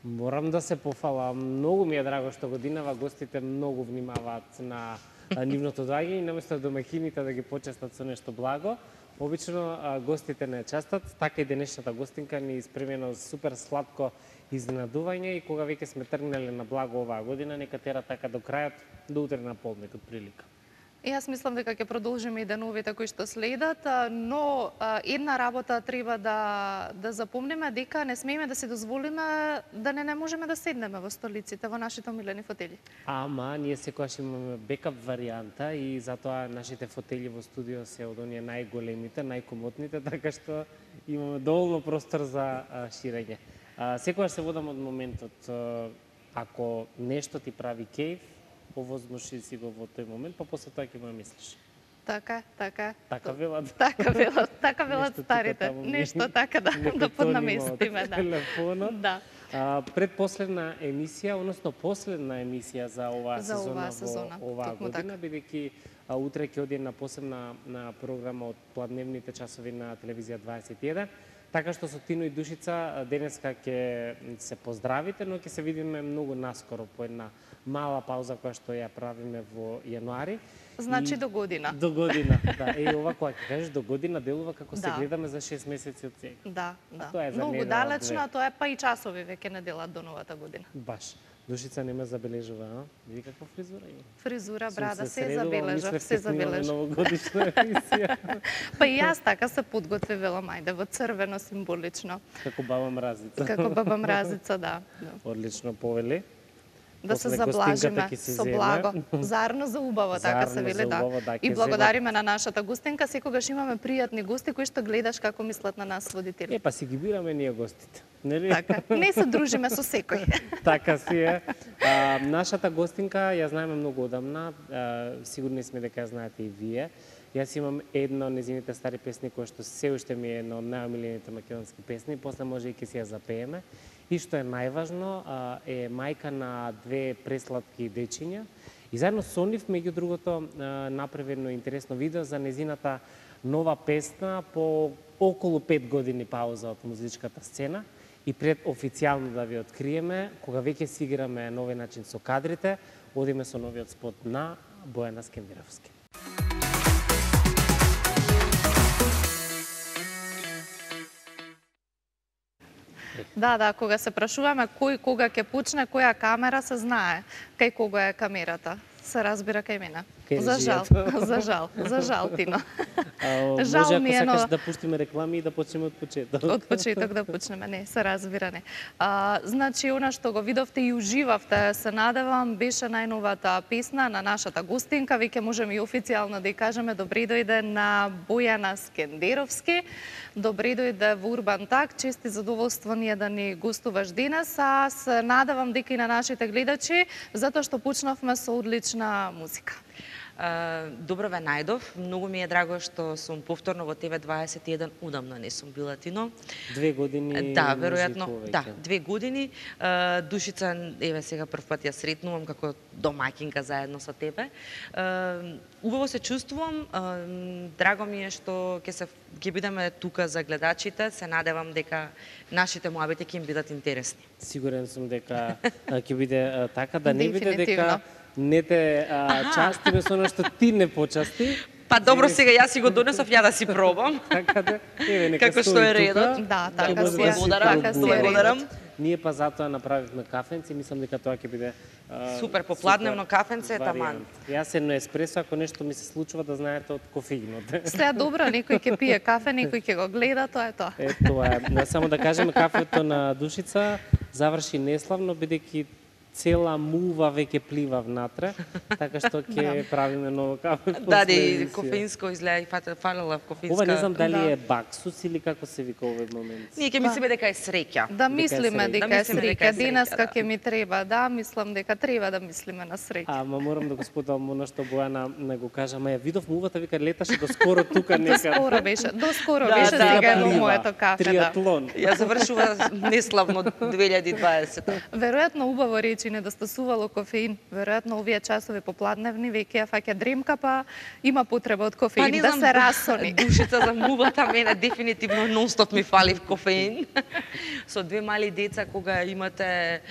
Морам да се пофалам. Многу ми е драго што годинава гостите многу внимаваат на нивното доаѓање и наместо домаќините да ги почестат со нешто благо, обично гостите не честат. Така и денешната гостинка ни испремено супер сладко изненадување и кога веќе сме тргнали на благо оваа година, нека тера така до крајот, до утре на полднек од прилика. И јас мислам дека ќе продолжиме и деновите кои што следат, но една работа треба да запомниме, дека не смееме да си дозволиме да не можеме да седнеме во столиците, во нашите омилени фотели. Ама, ние секогаш имаме бекап варијанта и затоа нашите фотели во студио се од оние најголемите, најкомотните, така што имаме доволно простор за ширење. Секогаш се водам од моментот, ако нешто ти прави кејф, овозможи си го во тој момент, па после тоа ќе го мислиш. Така. Така велат. Така велат старите. Нешто така да поднаместиме, да. Телефонот. Да. Предпоследна емисија, односно последна емисија за оваа сезона во оваа година, бидејќи утре ќе оди на посебна програма од пладневните часови на телевизија 21. Така што со Тино и Душица денеска ќе се поздравите, но ќе се видиме многу наскоро по една мала пауза која што ја правиме во јануари. Значи до година. До година, да. Ова кога ќе кажеш до година делува како се гледаме за 6 месеци од сега. Да. Тоа е за многу далечно, тоа е па и часови веќе не делат до новата година. Баш. Душица не ме забележува, а? Види каква фризура има. Фризура, брада, се забележав, се забележав. Новогодишна емисија. Па и јас така се подготвивала, мајде, во црвено символично. Како баба Мразица. Како баба Мразица, да. Одлично, повели. Да се заблажиме со благо. Зарно за убаво, така се вели, да. И благодариме на нашата гостинка. Секогаш имаме пријатни гости кои што гледаш како мислат на нас водители. Па си ги бираме ние гостите, нели? Така, не се дружиме со секој. Така си е. Нашата гостинка ја знаеме многу одамна, сигурни сме дека ја знаете и вие. Јас имам една од незините стари песни која што се уште ми е една од најомилените македонски песни, после може и ќе си ја запееме. И што е најважно, е мајка на две пресладки дечиња. И заедно со нив, меѓу другото, направи едно интересно видео за незината нова песна по околу 5 години пауза од музичката сцена. И пред официјално да ви откриеме, кога веќе си играме нови начин со кадрите, одиме со новиот спот на Бојана Скендеровски. Да, кога се прашуваме кој кога ќе почне, која камера, се знае кај кога е камерата. Се разбира кај мене. За жал, Тино. Може ако сакаш да пуштиме реклами и да почнеме од почеток. Од почеток да почнеме, не, се разбира, не. Значи, она што го видовте и уживавте, се надевам, беше најновата песна на нашата гостинка. Веќе можеме и официјално да ја кажеме добре дојде на Бојана Скендеровски. Добре дојде во Урбан Так. Чест и задоволство ние да ни гостуваш денес. А се надевам дека и на нашите гледачи, затоа што почнавме со одлична музика. Добро ве најдов. Многу ми е драго што сум повторно во ТВ21, удамна не сум била, Тино. 2 години. Да, веројатно. Да, 2 години. Душица, еве сега прв пат ја сретнувам како домаќинка заедно со тебе. Убаво се чувствувам. Драго ми е што ќе бидеме тука за гледачите. Се надевам дека нашите муабети ќе им бидат интересни. Сигурен сум дека ќе биде така, да не биде дека не те частиме со она што ти не почасти. Па добро, сега јас си го донесов, ја да си пробам. Така да, еве нека како што е редот. Да, така си благодарам. Ние па затоа направивме кафенци, мислам дека тоа ќе биде супер попладневно кафенце, таман. Јас едно еспресо, ако нешто ми се случува, да знаете, од кофеинот. Сега добро, некој ќе пие кафе, некој ќе го гледа, тоа е тоа. Тоа е. Само да кажеме, кафето на Душица заврши неславно, бидејќи цела мува веќе плива внатре, така што ќе правиме ново кафе. Да, и кофеинско изгледа и фалела кофеинска. Ова не знам дали е баксус или како се вика овој момент. Ние ќе мислиме дека е среќа. Да мислиме дека е среќа. Денеска ќе ми треба, да, мислам дека треба да мислиме на среќа. Ама морам да го споделам она што Бојана не го кажа, ама ја видов мувата, вика леташе до скоро тука некаде. До скоро беше сега во моето кафе, да. Триатлон. Ја завршува неславно 2020. Веројатно убаво рече повеќе недостасувало кофеин. Веројатно овие часови попладневни веќе ја фаќа дремка, па има потреба од кофеин да се расони. Душица за мувата, мене дефинитивно нонстоп ми фали кофеин. Со две мали деца, кога имате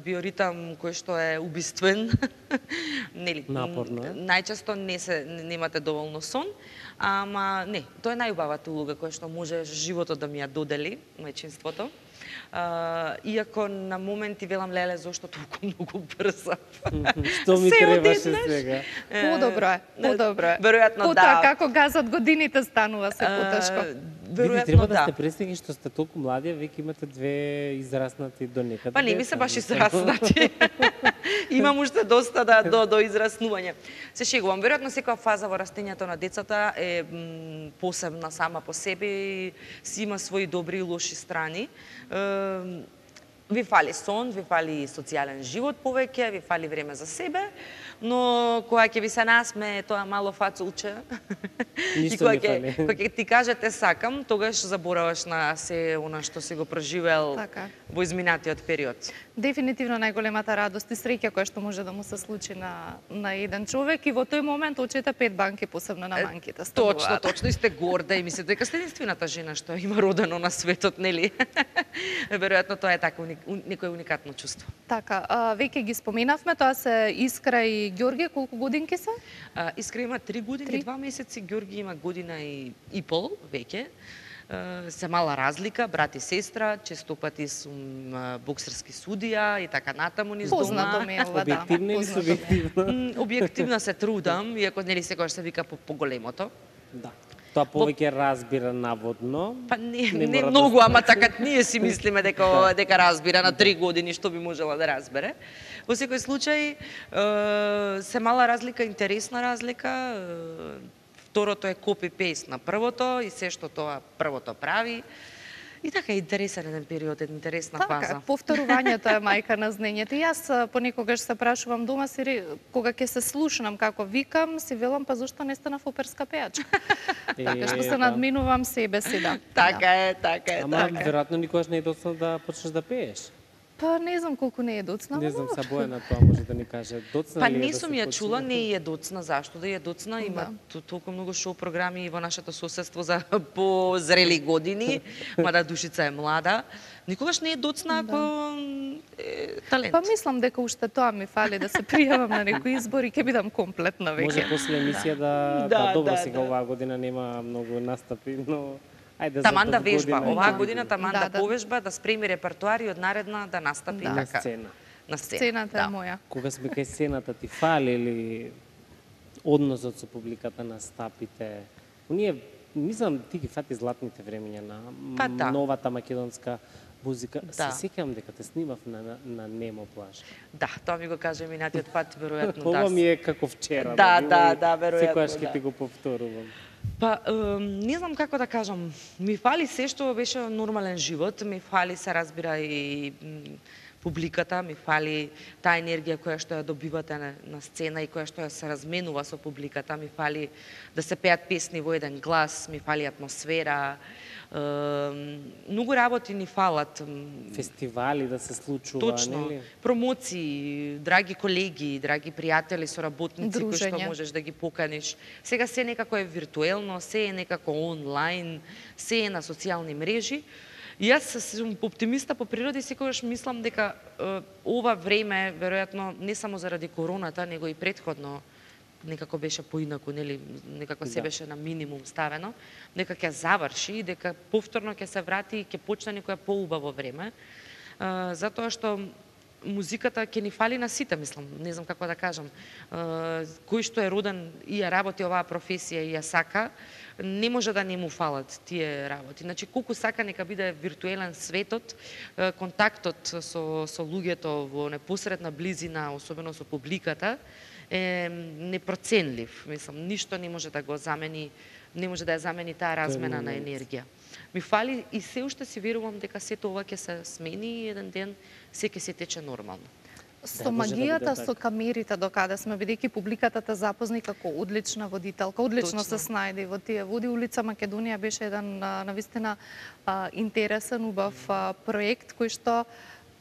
биоритам кој што е убиствен, нели, напорно е. Најчесто немате доволно сон, ама не, тоа е најубавата улога која што може животот да ми ја додели, мајчинството. Иако на моменти велам, леле, зошто толку многу брзо? Што ми требаше сега? Подобро е, подобро е. Веројатно Потоа да. како газат годините станува се потешко. Види, треба да сте пресеќни што сте толку млади, веќе имате две израснати до некаде. Па не ми се баш израснати. Имам уште доста до израснување. Се шегувам. Веројатно секоја фаза во растењето на децата е посебна сама по себе и си има своји добри и лоши страни. Ви фали сон, ви фали социјален живот повеќе, ви фали време за себе, но кога ќе ви се насме тоа мало фацулче и кога ќе ти каже те сакам, тогаш забораваш на се она што си го преживел во изминатиот период. Дефинитивно најголемата радост и среќа која што може да му се случи на еден човек и во тој момент очите 5 банки, посебно на манките стануваат. Точно, и сте горда и мислите дека сте единствената жена што има родено на светот, нели? Веројатно тоа е така некое уникатно чувство. Така, веќе ги споменавме, тоа се Искра и Ѓорги, колку годинки се? Искра има 3 години и 2 месеци, Ѓорги има година и пол веќе. Се мала разлика, брат и сестра, често пати сум боксерски судија и така натаму низ дома. Познато ми е ова, да. Објективно или субјективно? Објективно се трудам, иако нели секогаш се вика по големото. Да. Тоа повеќе разбира наводно. Па не многу, ама така ние си мислиме дека разбира на 3 години што би можела да разбере. Во секој случај се мала разлика, интересна разлика. Второто е копи-пейст на првото и се што тоа првото прави. И така, интересен еден период, интересна фаза. Така, повторувањето е мајка на знаењето. И јас понекогаш се прашувам дома, кога ќе се слушнам како викам, си велам, па зошто не станав оперска пејачка? Така што се надминувам себе си, да. Така е. Ама веројатно никогаш не е доцна да почнеш да пееш. Па не знам колку не е доцна. Не знам, са Бојана тоа може да ни каже. Доцна па ли е не да сум ја чула, не е доцна. Зашто да е доцна? Има толку многу шоу програми во нашето соседство за позрели години, мада Душица е млада. Никогаш не е доцна ако е талент. Па мислам дека уште тоа ми фали да се пријавам на некои избори, ќе бидам комплетна веќе. Може после емисија да добро сега оваа година нема многу настапи, но ајде таман да вежба, оваа година таман да повежба, да спреми репертуар и од наредна да настапи на така. сцена. На сцена. Сцената е моја. Кога сме кај сцената, ти фали ли односот со публиката, настапите? Ние, мислам, ти ги фати златните времења на новата македонска музика. Се сеќавам дека те снимав на Немо плаж. Да, тоа ми го кажа минатиот пат, веројатно. Ова ми е како вчера. Да, веројатно. Секогаш ќе ти го повторувам. Па, не знам како да кажам, ми фали се што беше нормален живот, ми фали се разбира и публиката, ми фали таа енергија која што ја добивате на сцена и која што ја се разменува со публиката, ми фали да се пеат песни во еден глас, ми фали атмосфера, многу работи ни фалат. Фестивали да се случува, точно, нели? Промоции, драги колеги, драги пријатели, соработници кои што можеш да ги поканиш. Сега се некако е виртуелно, се е некако онлайн, се е на социјални мрежи. И јас сум оптимиста по природа и секогаш мислам дека ова време, веројатно, не само заради короната, него и претходно, некако беше поинаку, нели, некако се беше на минимум ставено, дека ќе заврши и дека повторно ќе се врати и ќе почне некое поубаво време. Затоа што музиката ќе ни фали на сите, мислам, не знам како да кажам. Кој што е роден и ја работи оваа професија и ја сака, не може да не му фалат тие работи. Значи, колку сака нека биде виртуелен светот, контактот со луѓето во непосредна близина, особено со публиката, е непроценлив. Мислам, ништо не може да го замени, не може да ја замени таа размена на енергија. Ми фали и се уште си верувам дека сето ова ќе се смени и еден ден се ќе се тече нормално. Со магијата, со камерите докаде сме, бидејќи публиката те запозни како одлична водителка, одлично се снајде во тие води. Улица Македонија беше еден навистина интересен, убав проект кој што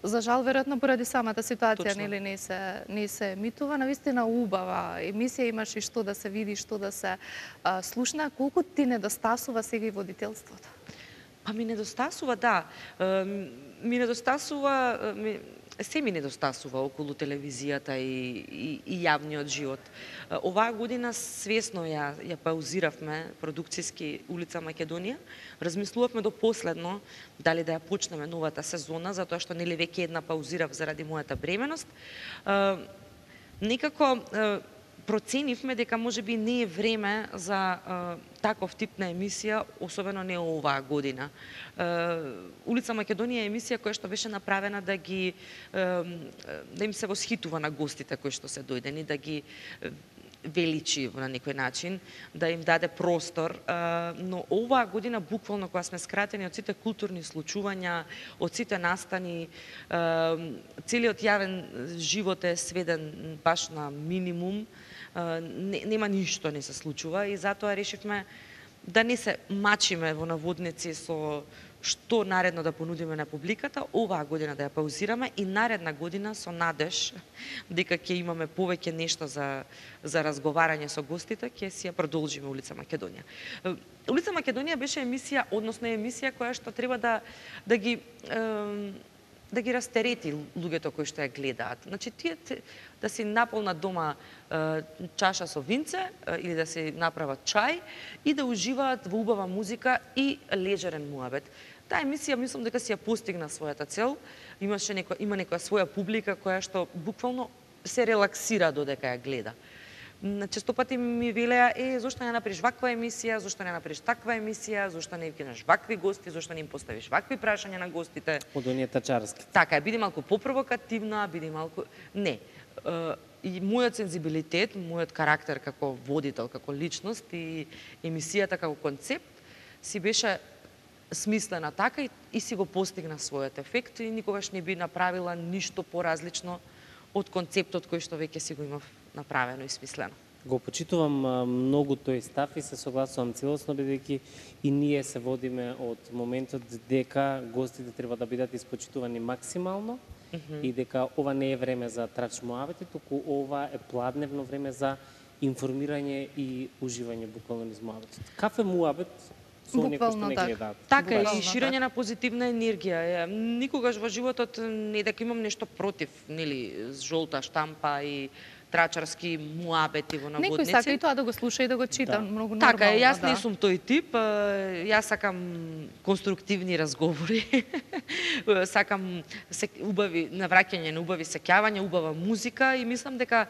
За жал, веројатно поради самата ситуација, Точно. нели не се емитува, навистина убава емисија, имаш и што да се види, што да се слушна. Колку ти недостасува сега и водителството? Па ми недостасува, да. Ми недостасува, се ми недостасува околу телевизијата и јавниот живот. Оваа година свесно ја паузиравме продукцијски Улица Македонија. Размислувавме до последно дали да ја почнеме новата сезона, затоа што нели веќе една паузирав заради мојата бременост. Некако проценивме дека можеби не е време за таков тип на емисија, особено не оваа година. Улица Македонија е емисија која што беше направена да им се восхитува на гостите кои што се дојдени, да ги величи на некој начин, да им даде простор, но оваа година буквално кога сме скратени од сите културни случувања, од сите настани, целиот јавен живот е сведен баш на минимум, нема ништо не се случува и затоа решивме да не се мачиме во наводници со што наредно да понудиме на публиката, оваа година да ја паузираме и наредна година со надеж дека ќе имаме повеќе нешто за разговарање со гостите, ќе си ја продолжиме Улица Македонија. Улица Македонија беше емисија, односно емисија која што треба да ги растерети луѓето кои што ја гледаат. Значи, тие да си наполнат дома чаша со винце или да си направат чај и да уживаат во убава музика и лежерен муабет. Таа емисија мислам дека си ја постигна својата цел. Има некоја своја публика која што буквално се релаксира додека ја гледа. Често пати ми велеа, зошто не направиш ваква емисија, зошто не направиш таква емисија, зошто не кинеш вакви гости, зошто не им поставиш вакви прашања на гостите. Од оние тачарски. Така е, биди малку попровокативна, биди малку... Не. И мојот сензибилитет, мојот карактер како водител, како личност и емисијата како концепт си беше смислена така и си го постигна својот ефект и никогаш не би направила ништо поразлично од концептот кој што веќе си го имав направено и смислено. Го почитувам многу тој став и се согласувам целосно, бидејќи и ние се водиме од моментот дека гостите треба да бидат испочитувани максимално и дека ова не е време за трач муабети, туку ова е пладневно време за информирање и уживање буквално низ муабетот. Кафе муабет со оние кои што не гледаат. Така е, и ширење на позитивна енергија. Никогаш во животот не дека имам нешто против, нели, жолта штампа и трачарски муабети во наводници. Некој сака и тоа да го слуша и да го чита, многу нормално. Така е, јас не сум тој тип, јас сакам конструктивни разговори, сакам убави навраќање на убави сеќавања, убава музика и мислам дека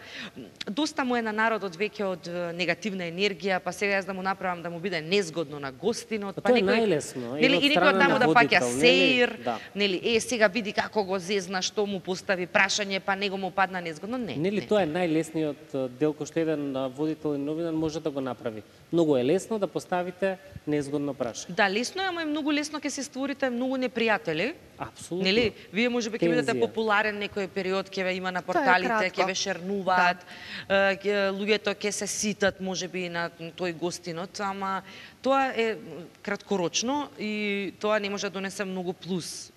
доста му е на народот веќе од негативна енергија, па сега јас да му направам да му биде незгодно на гостинот, па некој најлесно, нели и некој таму да паќа сеир, да. Нели сега види како го зезна, што му постави прашање, па него му падна незгодно, не. Нели тоа е најлесниот дел кој што еден водител и новинар може да го направи. Многу е лесно да поставите незгодно прашање. Да, лесно е, ама и многу лесно ќе се створите многу непријатели. Апсолутно. Нели, вие можеби ќе бидете популарен некој период, ќе ве има на порталите, ќе ве шернуваат, луѓето ќе се ситат можеби на тој гостинот, ама тоа е краткорочно и тоа не може да донесе многу плюс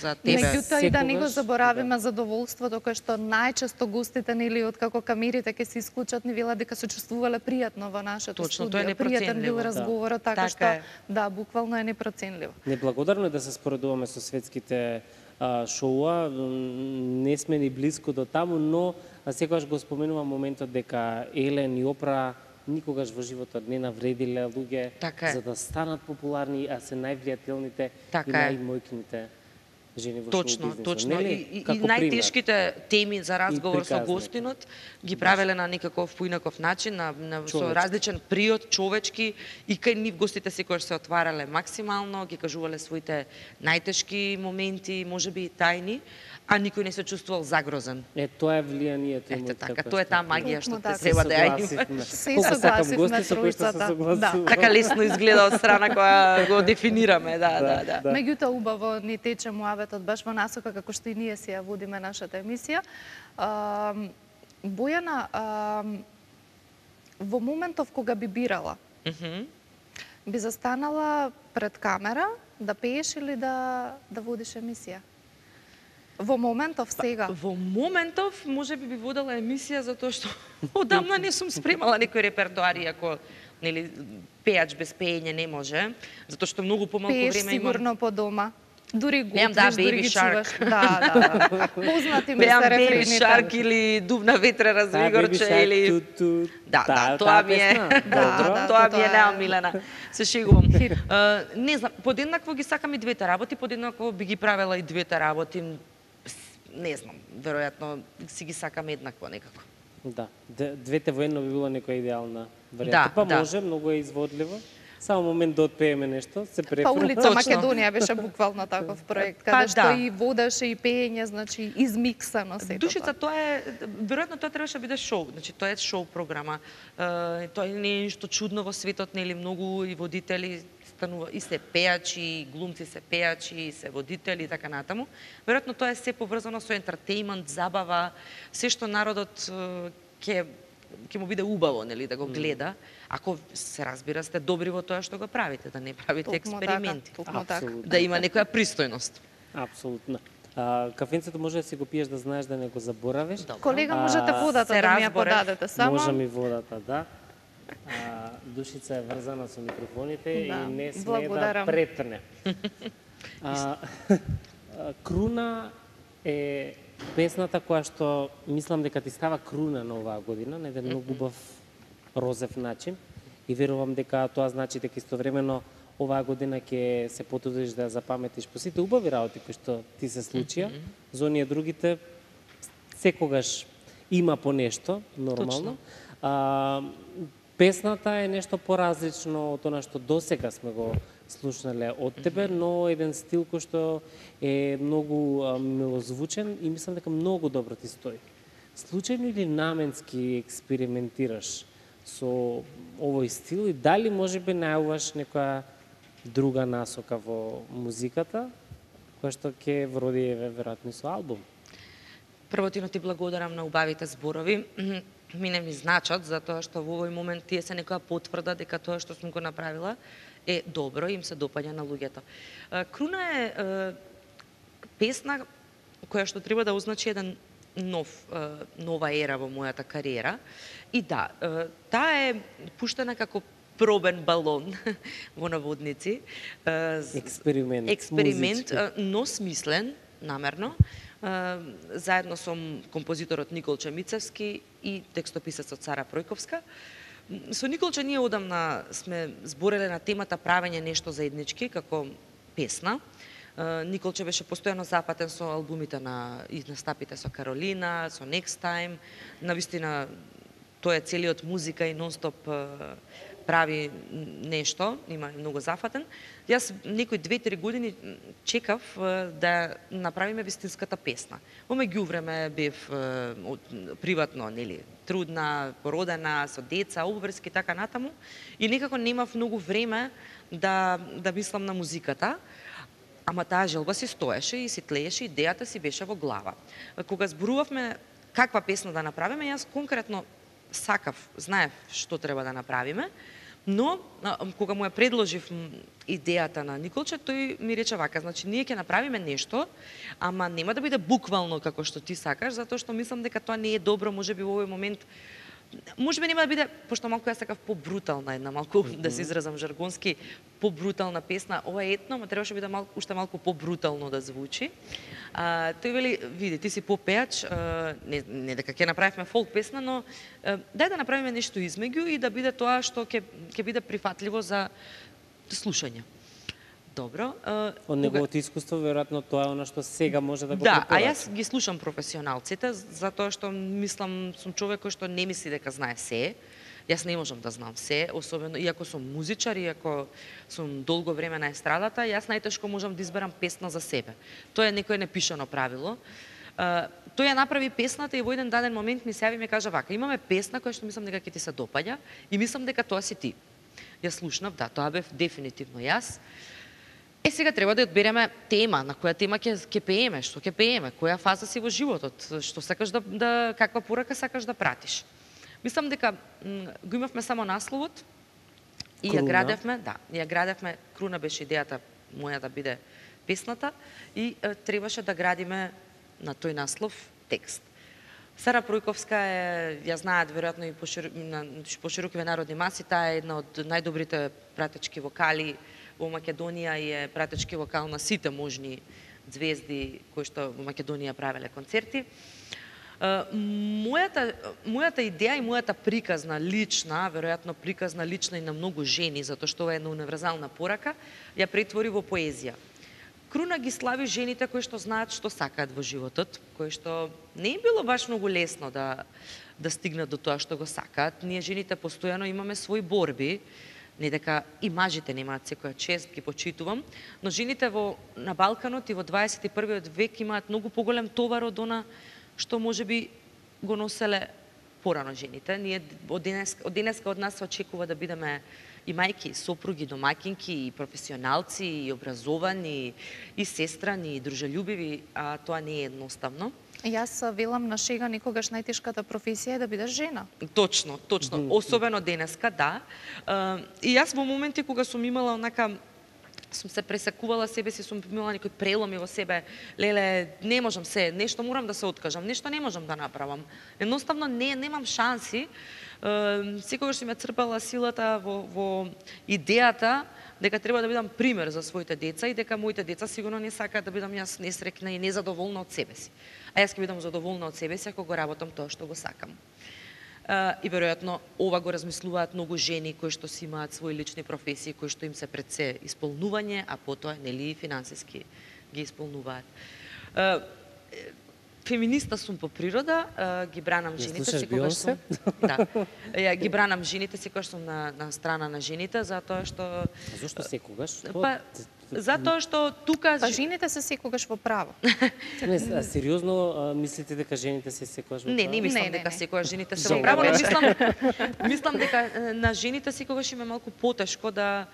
за тебе. Меѓутоа и да не го заборавиме задоволството кое што најчесто гостите нели откако камерите ќе се исклучат ни велат дека се чувствувале пријатно во нашето студио. Тоа е пријатен бил разговорот, така што да, буквално е непроценливо. Неблагодарно е да се споредуваме со светските шоуа, не сме ни близко до таму, но секогаш го споменувам моментот дека Елен и Опра никогаш во животот не навредиле луѓе за да станат популарни, а се највлијателните и најмојкните жени во шоу-бизнисот. Точно. И најтешките теми за разговор со гостинот ги правеле на некаков поинаков начин, со различен приод, човечки, и кај нив гостите секогаш се отварале максимално, ги кажувале своите најтешки моменти, можеби и тајни, а никој не се чувствувал загрозен. Тоа е влијанието. Ете така, тоа е таа магија што те треба да ја има. Се согласивме тројцата. Така лесно изгледа од страна која го дефинираме, да. Меѓутоа убаво ни тече муабетот баш во насока како што и ние си ја водиме нашата емисија. Бојана, во моментов кога би бирала, би застанала пред камера да пееш или да водиш емисија? Во моментов сега. Во моментов може би водела емисија затоа што одамна не сум спремала некој репертоар, иако нели пеач без пеење не може, затоа што многу помалку Пееш време имам. сигурно по дома. Дури Пеам, да, готвиш, дури Baby ги Shark. чуваш. Да. Познати ми Пеам се Baby рефрените. Shark или Дубна ветра развигорче или Да, тоа ми е. Тоа ми е неомилена. Се шегувам. Не знам, подеднакво ги сакам и двете работи, подеднакво би ги правела и двете работи. Не знам, веројатно си ги сакам еднакво некако. Да, двете воедно би било некоја идеална варијанта. Па може, многу е изводливо. Само момент да отпееме нешто, се префрла. Па улица Македонија беше буквално таков проект, каде што и водеше и пеење, значи измиксано сето. Душица, тоа е, веројатно тоа требаше да биде шоу, значи тоа е шоу програма. Тоа не е ништо чудно во светот, нели многу и водители станува и се пеачи, и глумци се пеачи, и се водители и така натаму. Веројатно тоа е се поврзано со ентертејмент, забава, се што народот ќе му биде убаво, нели, да го гледа, ако се разбира сте добри во тоа што го правите, да не правите експерименти. Да има некоја пристојност. Апсолутно. Кафенцето може да си го пиеш да знаеш да не го заборавиш. Колега, можете водата да ми ја подадете само. Може ми водата, да. Душица е врзана со микрофоните и не сме да претне. Круна е песната која што мислам дека ти става круна на оваа година на еден многу убав розев начин и верувам дека тоа значи дека истовремено оваа година ќе се потрудиш да запаметиш по сите убави работи кои што ти се случија. За оние другите секогаш има по нешто, нормално. Песната е нешто поразлично од она што досега сме го слушнале од тебе, но еден стил кој што е многу милозвучен и мислам дека многу добро ти стои. Случајно или наменски експериментираш со овој стил и дали можеби најавуваш некоја друга насока во музиката, која што ќе вроди веројатно со албум? Првотино ти благодарам на убавите зборови. Мене ми значат, затоа што во овој момент тие се некоја потврда дека тоа што сум го направила е добро и им се допаѓа на луѓето. Круна е песна која што треба да означи еден нова ера во мојата кариера. И да, таа е пуштена како пробен балон во наводници. Експеримент, но смислен, намерно. Заедно со композиторот Николче Мицевски и текстописецот Сара Пројковска. Со Николче ние одамна сме збореле на темата правење нешто заеднички како песна. Николче беше постојано запатен со албумите и настапите со Каролина, со Next Time. Навистина тој е целиот музика и нонстоп прави нешто, има многу зафатен. Јас некои 2-3 години чекав да направиме вистинската песна. Во меѓувреме бев приватно, нели, трудна, породена, со деца, обврски, така натаму, и некако немав многу време да мислам на музиката, ама таа желба си стоеше и си тлееше, идејата си беше во глава. Кога зборувавме каква песна да направиме, јас конкретно сакав, знаев што треба да направиме, но кога му ја предложив идејата на Николче, тој ми рече вака, значи ние ќе направиме нешто, ама нема да биде буквално како што ти сакаш, затоа што мислам дека тоа не е добро, можеби во овој момент можеби нема да биде, пошто малку јас сакав побрутална една, малку да се изразам жаргонски, побрутална песна. Ова е етно, ма требаше биде уште малку побрутално да звучи. Тој вели, види, ти си попеач, не дека ќе направиме фолк песна, но дај да направиме нешто измеѓу и да биде тоа што ќе биде прифатливо за слушање. Добро. Од неговото искуство, веројатно тоа е она што сега може да го препорача. Да, а јас ги слушам професионалците, затоа што мислам, сум човек кој што не мисли дека знае се. Јас не можам да знам се, особено иако сум музичар, иако сум долго време на естрадата, јас најтешко можам да изберам песна за себе. Тоа е некое непишано правило. Тој ја направи песната и во еден даден момент ми се јави и ми кажа вака, имаме песна која што мислам дека ќе ти се допаѓа и мислам дека тоа си ти. Јас слушнав, да, тоа бев дефинитивно јас. Сега треба да одбереме тема, на која тема ќе пееме, што ќе пееме, која фаза си во животот, што сакаш каква порака сакаш да пратиш. Мислам дека го имавме само насловот и ја градевме, Круна беше идејата моја да биде песната и требаше да градиме на тој наслов текст. Сара Пројковска е, ја знаат веројатно и на поширокиве народни маси, таа е една од најдобрите пратечки вокали во Македонија и е пратечки вокал на сите можни звезди кои што во Македонија правеле концерти. Мојата идеја и мојата приказна лична, веројатно приказна лична и на многу жени, затоа што ова е една универзална порака, ја претвори во поезија. Круна ги слави жените кои што знаат што сакаат во животот, кои што не им било баш многу лесно да стигнат до тоа што го сакаат. Ние жените постојано имаме своји борби, не дека и мажите немаат секоја чест, ги почитувам, но жените на Балканот и во 21. век имаат многу поголем товар од она што можеби го носеле порано жените. Ние од денеска од нас се очекува да бидеме и мајки, и сопруги, домакинки, и професионалци, и образовани, и сестрани, и дружелюбиви, а тоа не е едноставно. Јас велам на шега никогаш најтешката професија е да бидеш жена. Точно, особено денеска, да. И јас во моменти кога сум имала онака, сум се пресекувала себе си, сум имала некои преломи во себе, леле, не можам се, нешто морам да се откажам, нешто не можам да направам. Едноставно немам шанси. Секогаш си ме црпала силата во идејата дека треба да бидам пример за своите деца и дека моите деца сигурно не сакаат да бидам јас несрекна и незадоволна од себе си. А јас ќе бидам задоволна од себе си ако го работам тоа што го сакам. И веројатно ова го размислуваат многу жени кои што си имаат своји лични професии, кои што им се пред се исполнување, а потоа нели и финансиски ги исполнуваат. Феминиста сум по природа, ги бранам жените секогаш сум. Да. Ги бранам жените секогаш сум на страна на жените затоа што Зошто секогаш? Затоа што тука жените се секогаш во право. Не, сериозно мислите дека жените се секогаш во право? Не мислам дека секогаш жените се во право, но мислам дека на жените секогаш им е малку потешко да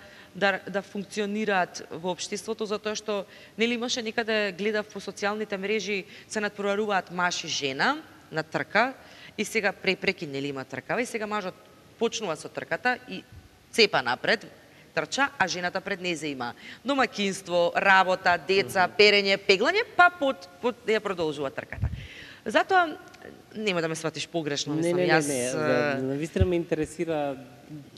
функционираат во општеството, затоа што нели имаше некаде гледав по социјалните мрежи се надпреваруваат маж и жена на трка и сега препреки нели има тркава и сега мажот почнува со трката и цепа напред, трча, а жената пред незе има домакинство, работа, деца, перење, пеглање, па ја продолжува трката. Затоа нема да ме сватиш погрешно, мислам јас. Не, вистина ме интересира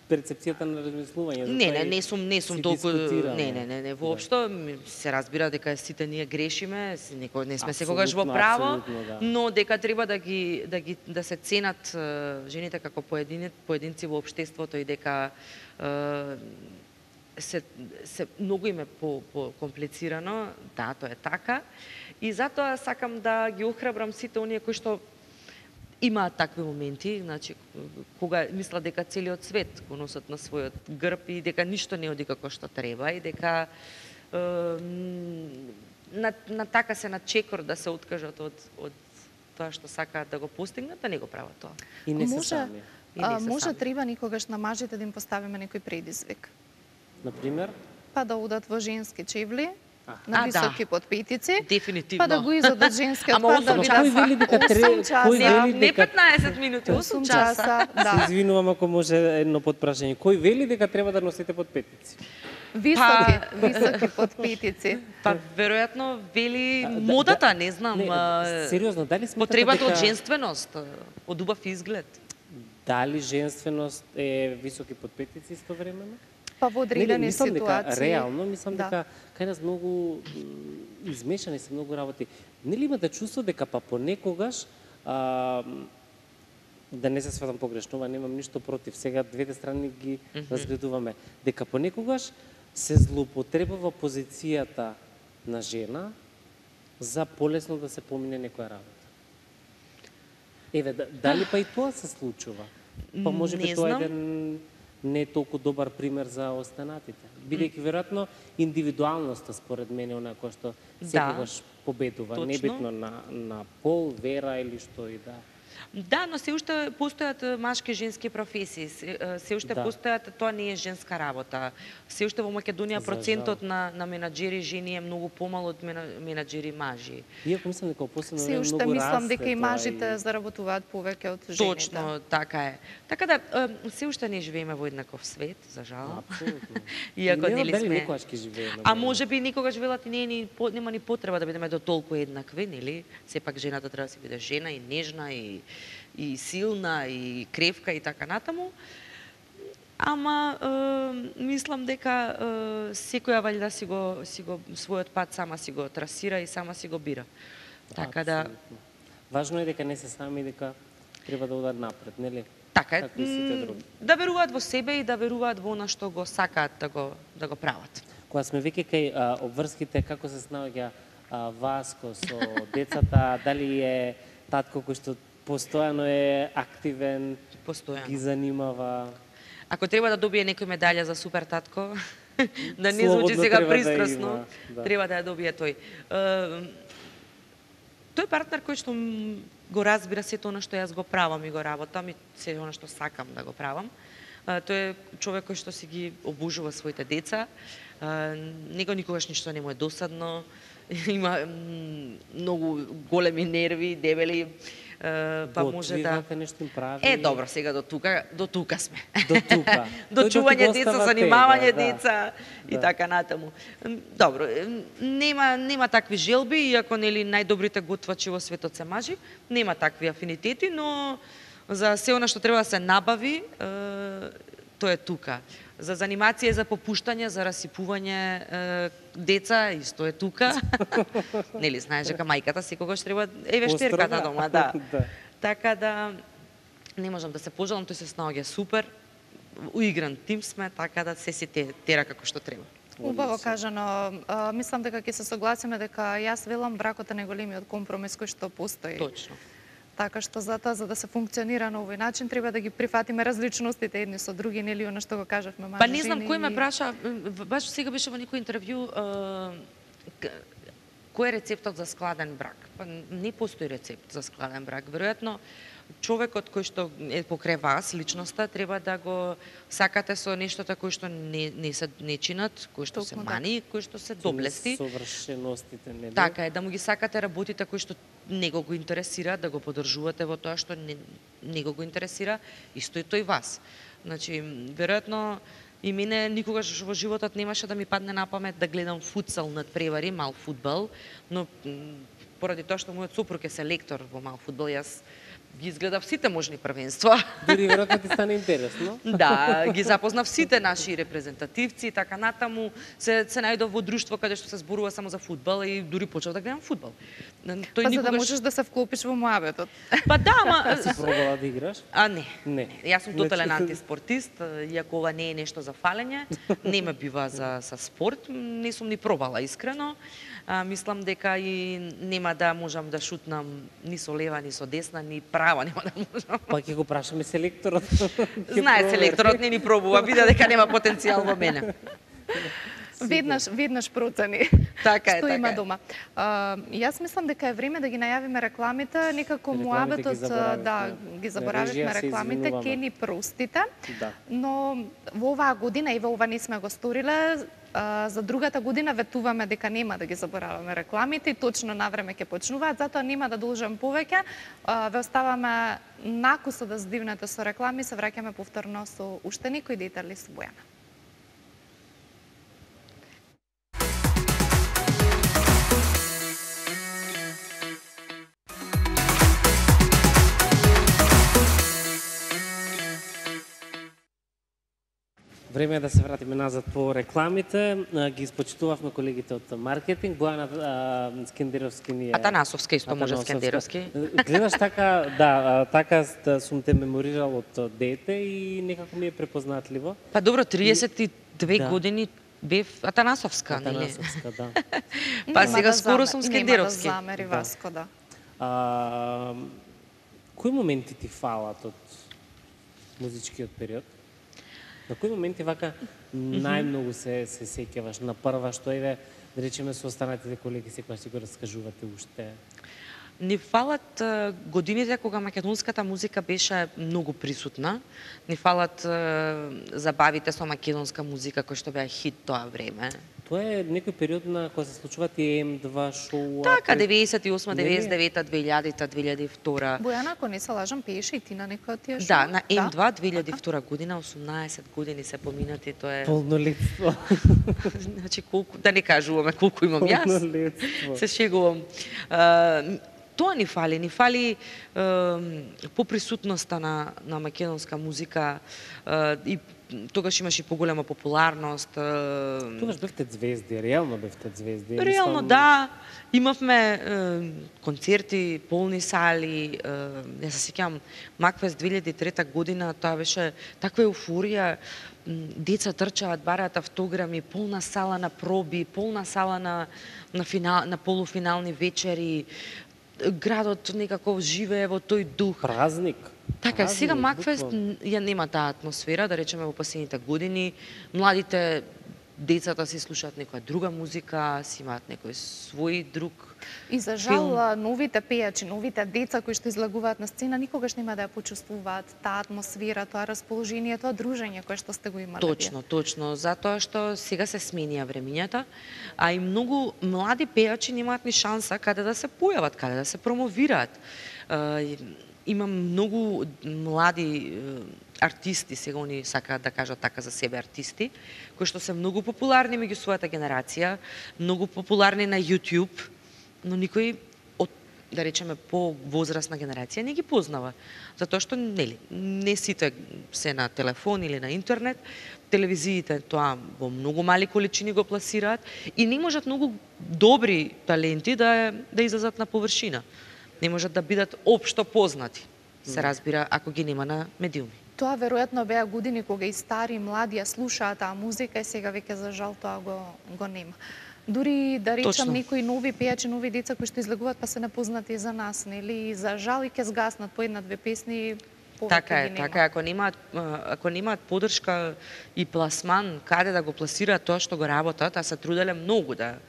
перцепцијата на размислување. Не сум толку не, воопшто се разбира дека сите ние грешиме, не сме секогаш во право, но дека треба да се ценат жените како поединци во општеството и дека се многу им е по-комплицирано, да, тоа е така. И затоа сакам да ги охрабрам сите оние кои што имаат такви моменти, значи кога мислат дека целиот свет го носат на својот грб и дека ништо не оди како што треба и дека на така се на чекор да се откажат од тоа што сакаат да го постигнат, да не го прават тоа. И не се сами. Може треба никогаш на мажите да им поставиме некој предизвик. Например? Па да удат во женски чевли, на високи подпетици, дефинитивно. па да го изодат женскиот пат да бидат 8 часа. Не 15 минути, 8 часа. Се извинувам ако може едно подпрашање. Кој вели дека треба да носите подпетици? Високи подпетици. Па веројатно вели модата, не знам. Сериозно, дали сметате потребата од женственост, од убав изглед. Дали женственост е високи подпетици истовремено? Па во одредени ситуации. Реално, мислам дека кај нас многу измешани се многу работи. Нели имате чувство дека па понекогаш да не се сватам погрешно, немам ништо против. Сега двете страни ги разгледуваме. Дека понекогаш се злоупотребува позицијата на жена за полесно да се помине некоја работа. Еве, дали па и тоа се случува? Па може би тоа е не е толку добар пример за останатите. Бидејќи веројатно индивидуалноста според мене она која што секогаш победува, небитно на пол, вера или што и да. Да, но се уште постојат машки и женски професии. Се уште постојат, тоа не е женска работа. Се уште во Македонија процентот на менаџери жени е многу помал од менаџери мажи. Иако мислам дека последно Се време уште многу мислам расте дека и тоа мажите заработуваат повеќе од жените. Точно, така е. Така да, се уште не живееме во еднаков свет, за жал. Апсолутно. Иако нели сме... Никогаш ќе живееме. А може би никогаш велат нема ни потреба да бидеме до толку еднакви, нели? Сепак жената треба да се биде жена и нежна и силна и кревка и така натаму. Ама мислам дека секоја валјда си го својот пат сама си го трасира и сама си го бира. Така да важно е дека не се сами, дека треба да одат напред, нели? така е. Како и сите други. Да веруваат во себе и да веруваат во она што го сакаат да го прават. Кога сме веќе кај обврските, како се снаоѓа Васко со децата, дали е татко кој што постојано е активен, Постојано. ги занимава? Ако треба да добие некој медаља за супер татко, да не Слободно звучи сега треба да пристрасно, има, да. треба да ја добие тој. Тој партнер кој што го разбира сето она што јас го правам и го работам и се она што сакам да го правам. Тој е човек кој што си ги обужува своите деца. Него никогаш ништо не му е досадно. Има многу големи нерви, дебели. Па може да нешто им прави. Добро, сега до тука сме. До тука. До чување деца, занимавање тебе, деца и така натаму. Добро, нема такви желби, иако нели најдобрите готвачи во светот се мажи, нема такви афинитети, но за се она што треба да се набави, тоа е тука. За занимација, за попуштање, за расипување деца, исто е тука. Нели знаеш дека мајката секогаш треба вештерката дома, да. Така да не можам да се пожалам, тој се снаоѓа супер. Уигран тим сме, така да се тера како што треба. Убаво кажано. Мислам дека ќе се согласиме дека јас велам бракот е најголемиот компромис кој што постои. Точно. Така што затоа, за да се функционира на овој начин, треба да ги прифатиме различностите едни со други, нели она што го кажавме мажи. Па не знам кој ме праша, баш сега беше во некој интервју, кој е рецептот за складен брак? Па не постои рецепт за складен брак. Веројатно човекот кој што е покрај вас, личноста, треба да го сакате со нештата кои што не чинат, кои што се мани, кои што се доблести. Совршеностите, нели? Така е, да му ги сакате работите кои што него го интересира, да го поддржувате во тоа што него го интересира, исто и тој вас. Значи, веројатно и мене никогаш во животот немаше да ми падне на памет да гледам футсал над превари, мал фудбал, но поради тоа што мојот сопруг е селектор во мал фудбал, јас ги изгледав сите можни првенства. Дури веројатно ти стане интересно. Да, ги запознав сите наши репрезентативци и така натаму. Се најдов во друштво каде што се зборува само за фудбал и дури почнав да гледам фудбал. Па за да можеш да се вклопиш во муабетот. Па да, ама... Си пробала да играш? Не. Јас сум тотален антиспортист, иако ова не е нешто за фалење, не ме бива за спорт, не сум ни пробала искрено. Мислам дека и нема да можам да шутнам ни со лева, ни со десна, ни права нема да можам. Па ќе го прашаме селекторот. Знае селекторот, не ни пробува, вида дека нема потенцијал во мене. Веднаш процени. Така е, што така има е. дома. Јас мислам дека е време да ги најавиме рекламите, некако муабетот, ги заборавивме рекламите, ке ни простите. Но во оваа година и во ова не сме го сториле, за другата година ветуваме дека нема да ги забораваме рекламите и точно на време ќе почнуваат, затоа нема да должам повеќе. Ве оставаме накуса да здивнете со реклами, се враќаме повторно со уште некои детали со Бојана. Време е да се вратиме назад по рекламите. Ги испочитувавме колегите од маркетинг. Бојана Скендеровски ни е... Атанасовска исто може Скендеровски. Гледаш така, така сум те меморирал од дете и некако ми е препознатливо. Па добро, 32 години бев Атанасовска, нели? Атанасовска, да. Па сега скоро сум Скендеровски. Нема да замери Васко, да. Кои моменти ти фалат од музичкиот период? На кои моменти вака најмногу се сеќаваш? На прва што еве, да речеме со останатите колеги секогаш си го раскажувате уште? Ни фалат годините кога македонската музика беше многу присутна. Ни фалат забавите со македонска музика кои што беа хит тоа време. Тоа е некој период на кога се случуваат и М2 шоу. Така, 98, 99, 2000, 2002. Бојана, ако не се лажам, пееше и ти на некој од тие шоу? Да, на М2 2002 година, 18 години се поминати, тоа е... Полнолетство. Значи, колку, да не кажуваме колку имам јас. Полнолетство. Се шегувам. Тоа ни фали поприсутноста на македонска музика и тогаш имаше поголема популарност. Тогаш бевте звезди, реално бевте звезди. Реално да, имавме концерти, полни сали. Јас се сеќавам Макфест 2003 година, тоа беше таква еуфорија. Деца трчаат, бараат автограми, полна сала на проби, полна сала на полуфинални вечери. Градот некако живее во тој дух. Празник. Така, Празник, сега Макфест буквално. ја нема таа атмосфера, да речеме во последните години. Младите, децата си слушаат некоја друга музика, си имаат некој свој друг. И за жал, новите пејачи, новите деца кои што излагуваат на сцена, никогаш нема да ја почувствуваат таа атмосфера, тоа расположение, тоа дружење кое што сте го имале. Точно, затоа што сега се сменија времињата, а и многу млади пејачи немаат ни шанса каде да се појават, каде да се промовираат. Имам многу млади артисти, сега они сакаат да кажат така за себе артисти, кои што се многу популарни меѓу својата генерација, многу популарни на YouTube, но никој од, да речеме, по возрастна генерација не ги познава. Затоа што не сите се на телефон или на интернет, телевизиите тоа во многу мали количини го пласираат и не можат многу добри таленти да излезат на површина. Не можат да бидат општо познати, се разбира, ако ги нема на медиуми. Тоа веројатно беа години кога и стари и млади ја слушаат таа музика и сега веќе за жал тоа го нема. Дури да речам некои нови пејачи, нови деца кои што излегуваат па се непознати за нас, нели? И за жал и ќе згаснат по една-две песни, повеќе ги нема. Така е, ако немаат поддршка и пласман каде да го пласираат тоа што го работат, а се труделе многу да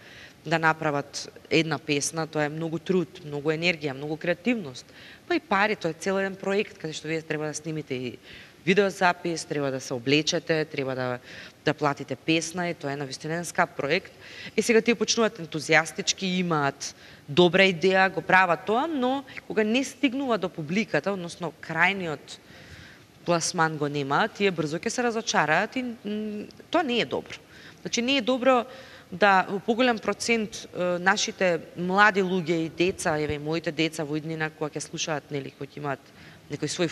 направат една песна, тоа е многу труд, многу енергија, многу креативност. Па и пари, тоа е цел еден проект каде што вие треба да снимите и видеозапис, треба да се облечете, треба да платите песна и тоа е навистина еден скап проект. И сега тие почнуваат ентузијастички, имаат добра идеја, го прават тоа, но кога не стигнува до публиката, односно крајниот пласман го нема, тие брзо ќе се разочараат и тоа не е добро. Значи не е добро да во поголем процент нашите млади луѓе и деца, еве моите деца во иднина кога ќе слушаат, нели, кои имаат некои своји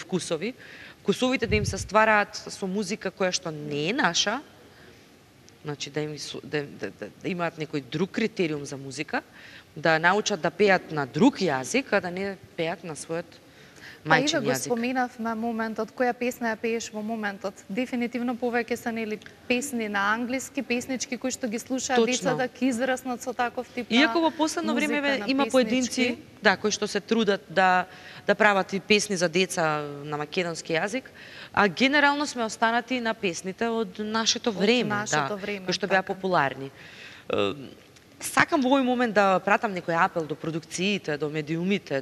вкусовите да им се ствараат со музика која што не е наша, значи да имаат некој друг критериум за музика, да научат да пеат на друг јазик, а да не пеат на својот мајчин го јазик. споменавме моментот, која песна ја пееш во моментот. Дефинитивно повеќе се нели песни на англиски, песнички кои што ги слушаат децата, ќе израснат со таков тип на Иако во последно време има поединци, кои што се трудат да прават и песни за деца на македонски јазик, а генерално сме останати на песните од нашето време, кои што беа популарни. Сакам во овој момент да пратам некој апел до продукциите, до медиумите,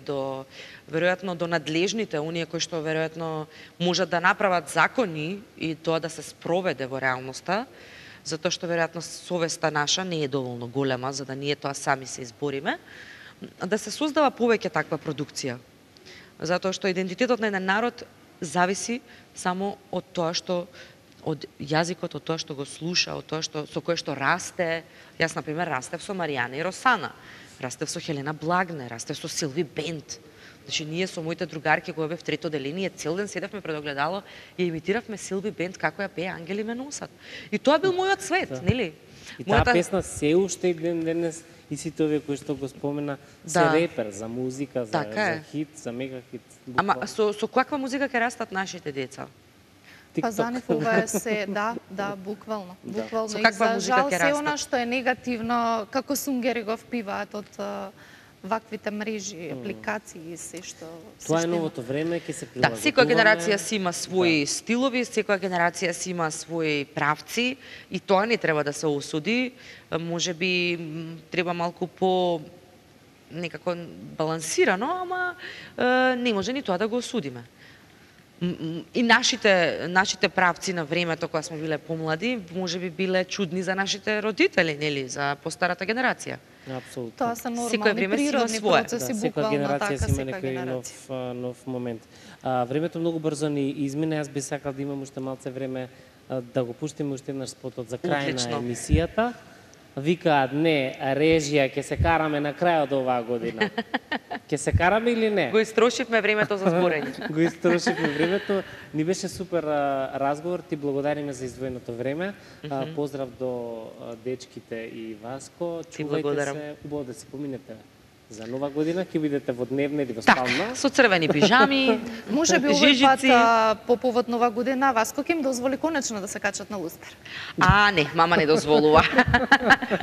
веројатно до надлежните, оние кои што веројатно можат да направат закони и тоа да се спроведе во реалноста, затоа што веројатно совеста наша не е доволно голема за да ние тоа сами се избориме, да се создава повеќе таква продукција. Затоа што идентитетот на еден народ зависи само од тоа што од јазикот, од тоа што го слуша, од тоа со кое што расте. Јас, например, растев со Маријана и Росана, растев со Хелена Благне, растев со Силви Бенд. Значи, ние со моите другарки кои бев трето деление, цел ден седевме пред огледало и имитиравме Силви Бенд како ја пее Ангели ме носат. И тоа бил мојот свет, нели? И таа песна се уште и денес и сите овие кои што го спомена, се репер за музика, за хит, за мега хит. Ама со каква музика ќе растат нашите деца? Па за нив ова е се, буквално. Буквално и за жал се она што е негативно, како сунгери го впиваат од ваквите мрежи, апликации и се што... Тоа е новото време, ќе се прилагодуваме. Да, секоја генерација си има своји стилови, секоја генерација си има своји правци и тоа не треба да се осуди. Може би треба малку некако балансирано, ама не може ни тоа да го осудиме. И нашите правци на времето кога сме биле помлади, можеби биле чудни за нашите родители, нели, за постарата генерација. Апсолутно. Тоа се Секој нормални време си има природни свое. процеси, секоја буквално генерација така, си има секоја некој генерација. нов момент. Времето многу брзо ни измина, јас би сакал да имам уште малце време да го пуштиме уште еднаш спотот за крај Отлично. на емисијата. Викаат, не, режија, ќе се караме на крајот оваа година. Ќе се караме или не? Го истрошивме времето за зборење. Го истрошивме времето. Ни беше супер разговор. Ти благодариме за издвоеното време. Поздрав до дечките и Васко. Ти Чувајте благодарам. се, убаво да си поминете. За нова година ќе бидете во дневна или во спална. Со црвени пижами, Може би овој пат жижици. по повод нова година Васко ќе им дозволи конечно да се качат на лустер. Не, мама не дозволува.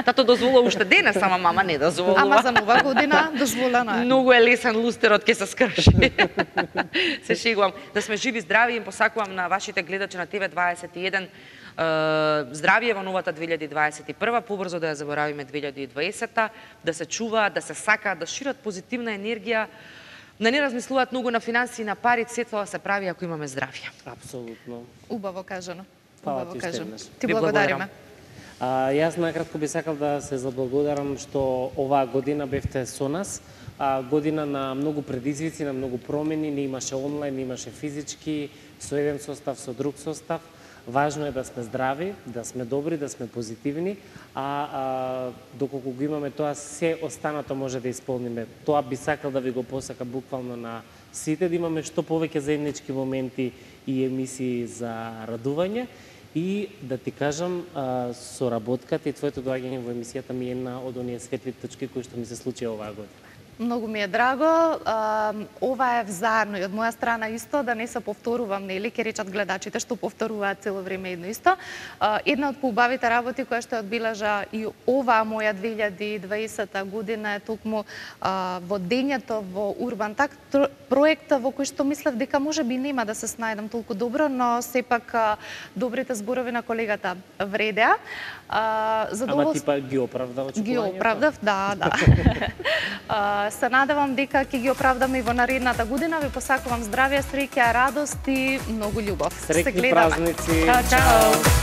Тато дозволува уште денес, ама мама не дозволува. Ама за нова година дозволено е. Многу е лесен лустерот ќе се скрши. Се шегувам. Да сме живи, здрави, им посакувам на вашите гледачи на ТВ21 здравје во новата 2021, побрзо да ја заборавиме 2020, да се чуваат, да се сакаат, да шират позитивна енергија, да не размислуваат многу на финанси и на пари, се тоа се прави ако имаме здравје. Апсолутно. Убаво кажано. Фала Убаво ти кажано. уште еднаш. Ти Ви благодариме. Јас накратко би сакал да се заблагодарам што оваа година бевте со нас. Година на многу предизвици, на многу промени, не имаше онлайн, не имаше физички, со еден состав, со друг состав. Важно е да сме здрави, да сме добри, да сме позитивни, доколку го имаме тоа, се останато може да исполниме. Тоа би сакал да ви го посака буквално на сите, да имаме што повеќе заеднички моменти и емисии за радување. И да ти кажам, соработката и твоето доаѓање во емисијата ми е една од оние светли точки кои што ми се случи оваа година. Многу ми е драго. Ова е взаемно и од моја страна исто, да не се повторувам, нели, ќе речат гледачите што повторуваат цело време едно исто. Една од поубавите работи која што ја одбележа и оваа моја 2020 година е токму водењето во Урбан Так, проекта во кој што мислев дека можеби нема да се снајдам толку добро, но сепак добрите зборови на колегата вредеа. Ама ти па ги оправда очекувањето? Ги оправдав, да. Се надевам дека ќе ги оправдаме и во наредната година. Ви посакувам здравје, среќа, радост и многу љубов. Среќни празници. Чао.